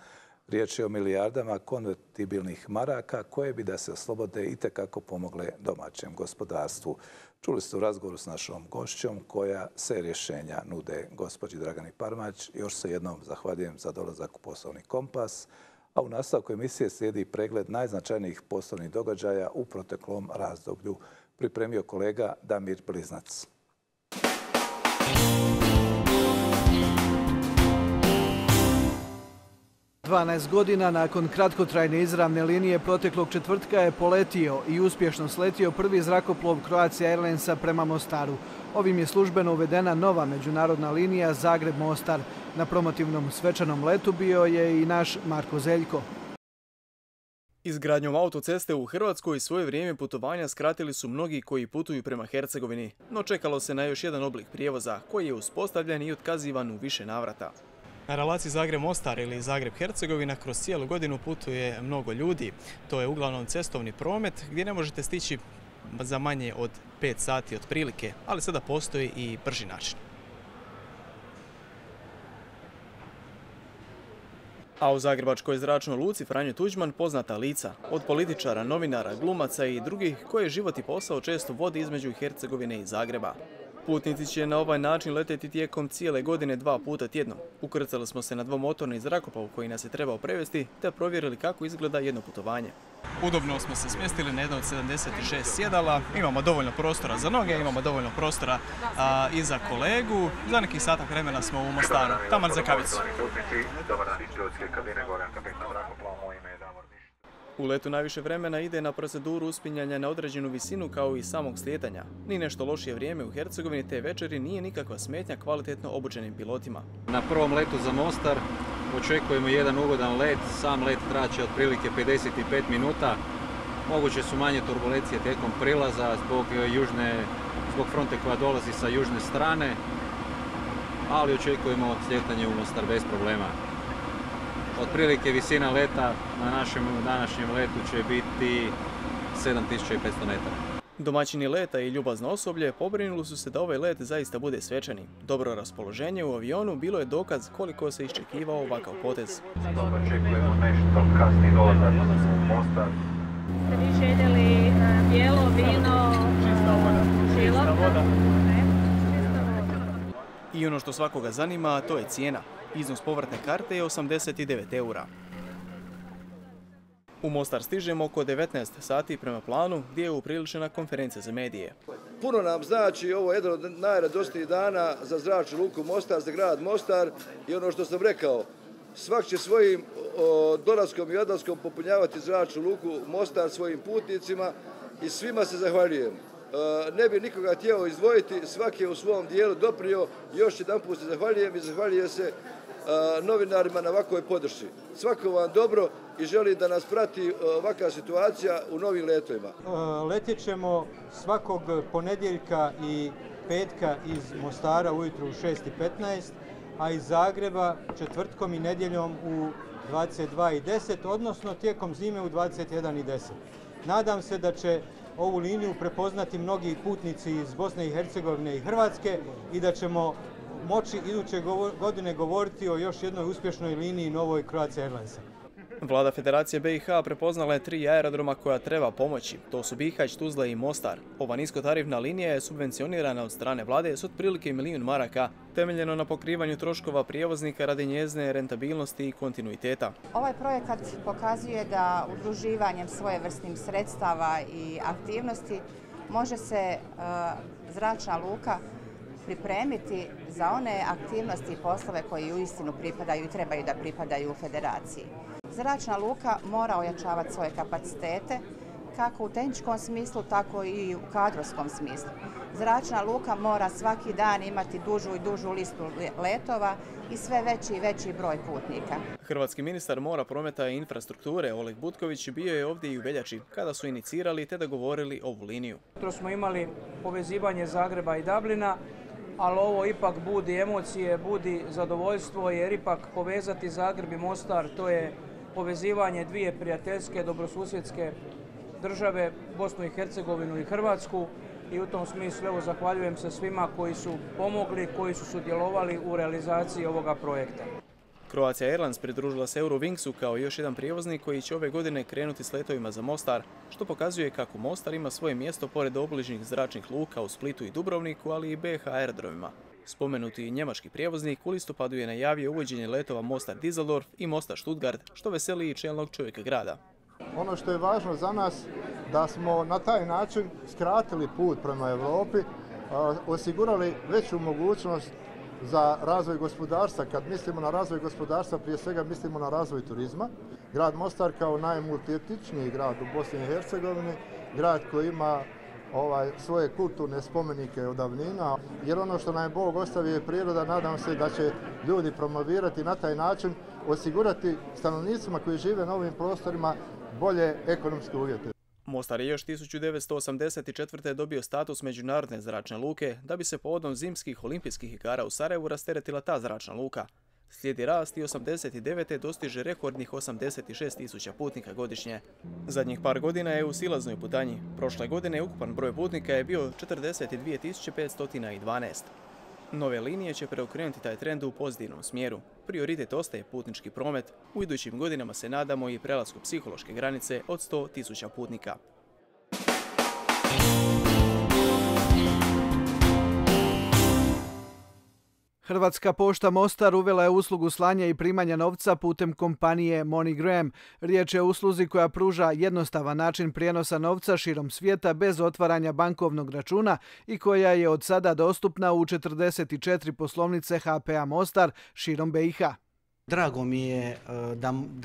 Riječ je o milijardama konvertibilnih maraka koje bi da se oslobode itekako pomogle domaćem gospodarstvu. Čuli ste u razgovoru s našom gošćom koja se rješenja nude gospođi Dragani Parmać. Još se jednom zahvaljujem za dolazak u Poslovni kompas, a u nastavku emisije slijedi pregled najznačajnijih poslovnih događaja u proteklom razdoblju. Pripremio kolega Damir Bliznac. 12 godina nakon kratkotrajne izravne linije proteklog četvrtka je poletio i uspješno sletio prvi zrakoplov Croatia Airlinesa prema Mostaru. Ovim je službeno uvedena nova međunarodna linija Zagreb-Mostar. Na promotivnom svečanom letu bio je i naš Marko Zeljko. Izgradnjom autoceste u Hrvatskoj svoje vrijeme putovanja skratili su mnogi koji putuju prema Hercegovini, no čekalo se na još jedan oblik prijevoza koji je uspostavljen i otkazivan u više navrata. Na relaciji Zagreb-Mostar ili Zagreb-Hercegovina kroz cijelu godinu putuje mnogo ljudi. To je uglavnom cestovni promet gdje ne možete stići za manje od 5 sati otprilike, ali sada postoji i brži način. A u zagrebačkoj zračnoj luci Franjo Tuđman poznata lica, od političara, novinara, glumaca i drugih koje život i posao često vodi između Hercegovine i Zagreba. Putnici će na ovaj način leteti tijekom cijele godine 2 puta tjedno. Ukrcali smo se na dvomotorni zrakoplov koji nas je trebao prevesti te provjerili kako izgleda jedno putovanje. Udobno smo se smjestili na jedno od 76 sjedala, imamo dovoljno prostora za noge, imamo dovoljno prostora i za kolegu. Za nekih sata vremena smo u Mostaru, taman za kavicu. U letu najviše vremena ide na proceduru uspinjanja na određenu visinu kao i samog slijetanja. Ni nešto lošije vrijeme u Hercegovini te večeri nije nikakva smetnja kvalitetno obučenim pilotima. Na prvom letu za Mostar očekujemo jedan ugodan let. Sam let traće otprilike 55 minuta. Moguće su manje turbulencije tijekom prilaza zbog fronte koja dolazi sa južne strane, ali očekujemo slijetanje u Mostar bez problema. Otprilike visina leta na našem današnjem letu će biti 7500 metara. Domaćini leta i ljubazno osoblje pobrinuli su se da ovaj let zaista bude svečani. Dobro raspoloženje u avionu bilo je dokaz koliko se iščekivao ovakav potez. Očekujemo nešto kasni dolazak u Mostar. Ste vi željeli bijelo vino, čista voda? I ono što svakoga zanima, to je cijena. Iznos povratne karte je 89 eura. U Mostar stižemo oko 19 sati prema planu gdje je upriličena konferencija za medije. Puno nam znači, ovo je jedan od najradosnijih dana za zračnu luku Mostar, za grad Mostar i ono što sam rekao, svak će svojim dolaskom i odlaskom popunjavati zračnu luku Mostar svojim putnicima i svima se zahvaljujem. Ne bi nikoga htio izdvojiti, svaki je u svom dijelu doprinio, još jedanput se zahvaljujem i zahvaljujem se novinarima na ovakvoj podršci. Svako vam dobro i želim da nas prati ovakva situacija u novim letovima. Letjet ćemo svakog ponedjeljka i petka iz Mostara ujutru u 6:15, a iz Zagreba četvrtkom i nedjeljom u 22:10, odnosno tijekom zime u 21:10. Nadam se da će ovu liniju prepoznati mnogi putnici iz Bosne i Hercegovine i Hrvatske i da ćemo moći iduće godine govoriti o još jednoj uspješnoj liniji novoj Croatia Airlinesa. Vlada Federacije BiH prepoznala je 3 aerodroma koja treba pomoći. To su Bihać, Tuzla i Mostar. Ova niskotarifna linija je subvencionirana od strane vlade s otprilike 1 milijun maraka, temeljeno na pokrivanju troškova prijevoznika radi njezine rentabilnosti i kontinuiteta. Ovaj projekat pokazuje da udruživanjem svojevrsnih sredstava i aktivnosti može se zračna luka pripremiti za one aktivnosti i poslove koji uistinu pripadaju i trebaju da pripadaju u federaciji. Zračna luka mora ojačavati svoje kapacitete, kako u tehničkom smislu, tako i u kadrovskom smislu. Zračna luka mora svaki dan imati dužu i dužu listu letova i sve veći i veći broj putnika. Hrvatski ministar mora, prometa i infrastrukture Oleg Butković bio je ovdje i u veljači, kada su inicirali te dogovorili ovu liniju. Jutros smo imali povezivanje Zagreba i Dublina, ali ovo ipak budi emocije, budi zadovoljstvo, jer ipak povezati Zagreb i Mostar, to je povezivanje dvije prijateljske, dobrosusjedske države, Bosnu i Hercegovinu i Hrvatsku, i u tom smislu evo zahvaljujem se svima koji su pomogli, koji su sudjelovali u realizaciji ovoga projekta. Croatia Airlines pridružila se Eurowingsu kao još jedan prijevoznik koji će ove godine krenuti s letovima za Mostar, što pokazuje kako Mostar ima svoje mjesto pored obližnjih zračnih luka u Splitu i Dubrovniku, ali i BiH aerodromima. Spomenuti njemački prijevoznik u listopadu je najavio uvođenje letova Mostar-Düsseldorf i Mostar-Stuttgart, što veseli i čelnog čovjeka grada. Ono što je važno za nas da smo na taj način skratili put prema Europi, osigurali veću mogućnost za razvoj gospodarstva. Kad mislimo na razvoj gospodarstva, prije svega mislimo na razvoj turizma. Grad Mostar kao najmultietničniji grad u Bosni i Hercegovini, grad koji ima svoje kulturne spomenike od davnina, jer ono što nam je Bog ostavio je priroda, nadam se da će ljudi promovirati na taj način, osigurati stanovnicima koji žive na ovim prostorima bolje ekonomske uvjete. Mostar je još 1984. dobio status međunarodne zračne luke da bi se povodom zimskih olimpijskih igara u Sarajevu rasteretila ta zračna luka. Slijedi rast i 89. dostiže rekordnih 86.000 putnika godišnje. Zadnjih par godina je u silaznoj putanji. Prošle godine ukupan broj putnika je bio 42.512. Nove linije će preokrenuti taj trend u pozitivnom smjeru. Prioritet ostaje putnički promet. U idućim godinama se nadamo i prelasku psihološke granice od 100.000 putnika. Hrvatska pošta Mostar uvela je uslugu slanja i primanja novca putem kompanije MoneyGram. Riječ je o usluzi koja pruža jednostavan način prijenosa novca širom svijeta bez otvaranja bankovnog računa i koja je od sada dostupna u 44 poslovnice HPA Mostar širom BiH. Drago mi je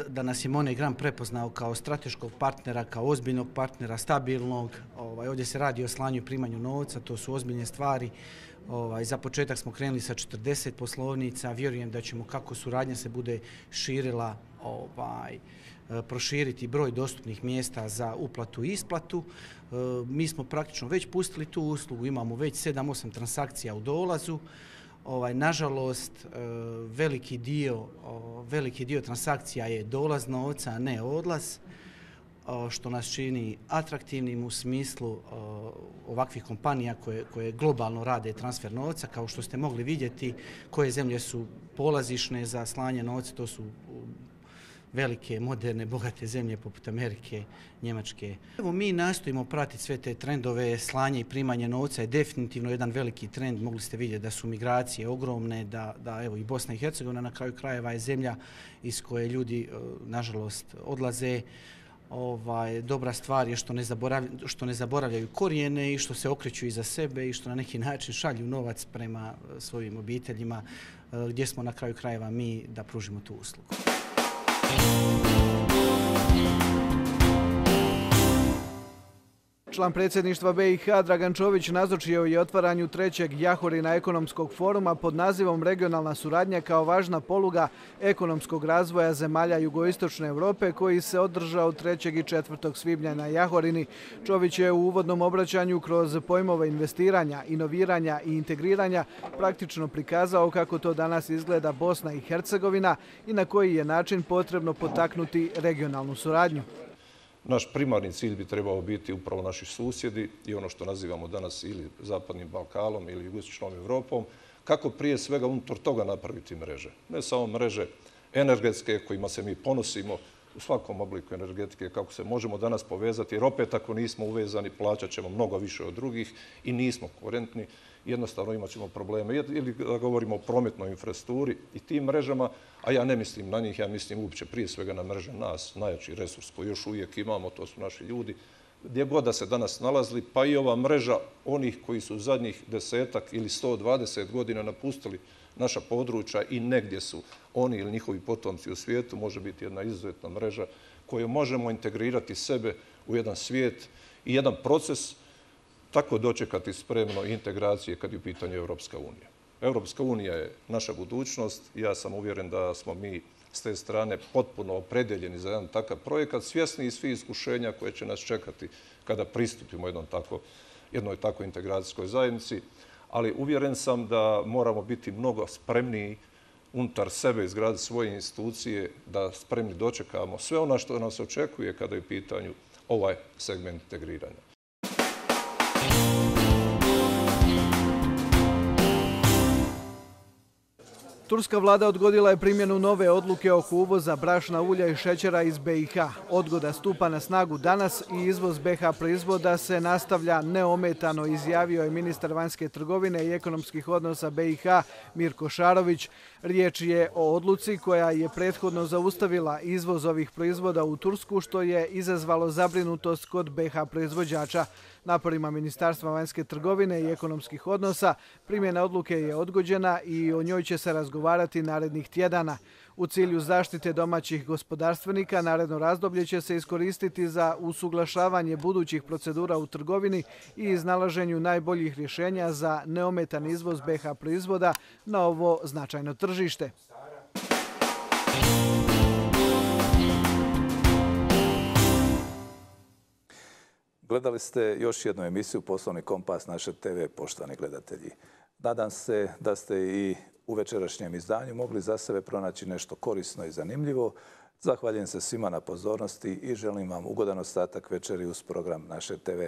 da nas je MoneyGram prepoznao kao strateškog partnera, kao ozbiljnog partnera, stabilnog. Ovdje se radi o slanju i primanju novca, to su ozbiljne stvari. Za početak smo krenuli sa 40 poslovnica. Vjerujem da ćemo, kako suradnja se bude širila, proširiti broj dostupnih mjesta za uplatu i isplatu. Mi smo praktično već pustili tu uslugu, imamo već 7-8 transakcija u dolazu. Nažalost, veliki dio transakcija je dolaz novca, a ne odlaz, što nas čini atraktivnim u smislu ovakvih kompanija koje globalno rade transfer novca. Kao što ste mogli vidjeti, koje zemlje su polazišne za slanje novca, to su velike, moderne, bogate zemlje poput Amerike, Njemačke. Evo, mi nastojimo pratiti sve te trendove. Slanje i primanje novca je definitivno jedan veliki trend. Mogli ste vidjeti da su migracije ogromne, da evo i Bosna i Hercegovina na kraju krajeva je zemlja iz koje ljudi, nažalost, odlaze. Dobra stvar je što ne zaboravljaju korijene i što se okreću iza sebe i što na neki način šalju novac prema svojim obiteljima, gdje smo na kraju krajeva mi da pružimo tu uslugu. Član predsjedništva BiH Dragan Čović nazočio je otvaranju 3. Jahorina ekonomskog foruma pod nazivom Regionalna suradnja kao važna poluga ekonomskog razvoja zemalja jugoistočne Europe, koji se održao 3. i 4. svibnja na Jahorini. Čović je u uvodnom obraćanju kroz pojmove investiranja, inoviranja i integriranja praktično prikazao kako to danas izgleda Bosna i Hercegovina i na koji je način potrebno potaknuti regionalnu suradnju. Naš primarni cilj bi trebao biti upravo naši susjedi i ono što nazivamo danas ili Zapadnim Balkanom ili Jugoistočnom Europom, kako prije svega unutar toga napraviti mreže. Ne samo mreže energetske kojima se mi ponosimo u svakom obliku energetike, kako se možemo danas povezati, jer opet ako nismo uvezani plaćat ćemo mnogo više od drugih i nismo konkurentni, jednostavno imat ćemo probleme. Ili da govorimo o prometnoj infrastrukturi i tim mrežama, a ja ne mislim na njih, ja mislim uopće prije svega na mreže nas, najjači resurs koji još uvijek imamo, to su naši ljudi, gdje god da se danas nalazili, pa i ova mreža onih koji su zadnjih 10 ili 120 godina napustili naša područja i negdje su oni ili njihovi potomci u svijetu, može biti jedna izuzetna mreža koju možemo integrirati sebe u jedan svijet i jedan proces, tako dočekati spremno integracije kad je u pitanju Europska unija. Europska unija je naša budućnost i ja sam uvjeren da smo mi s te strane potpuno opredeljeni za jedan takav projekat, svjesni i svi iskušenja koje će nas čekati kada pristupimo jednoj takvoj integracijskoj zajednici, ali uvjeren sam da moramo biti mnogo spremniji unutar sebe, izgraditi svoje institucije, da spremni dočekamo sve ono što nas očekuje kada je u pitanju ovaj segment integriranja. Turska vlada odgodila je primjenu nove odluke oko uvoza brašna, ulja i šećera iz BiH. Odgoda stupa na snagu danas i izvoz BiH proizvoda se nastavlja neometano, izjavio je ministar vanjske trgovine i ekonomskih odnosa BiH Mirko Šarović. Riječ je o odluci koja je prethodno zaustavila izvoz ovih proizvoda u Tursku, što je izazvalo zabrinutost kod BiH proizvođača. Naporima Ministarstva vanjske trgovine i ekonomskih odnosa primjena odluke je odgođena i o njoj će se razgovarati narednih tjedana. U cilju zaštite domaćih gospodarstvenika naredno razdoblje će se iskoristiti za usuglašavanje budućih procedura u trgovini i iznalaženju najboljih rješenja za neometan izvoz BiH proizvoda na ovo značajno tržište. Gledali ste još jednu emisiju Poslovni kompas naše TV, poštovani gledatelji. Nadam se da ste i u večerašnjem izdanju mogli za sebe pronaći nešto korisno i zanimljivo. Zahvaljujem se svima na pozornosti i želim vam ugodan ostatak večeri uz program naše TV.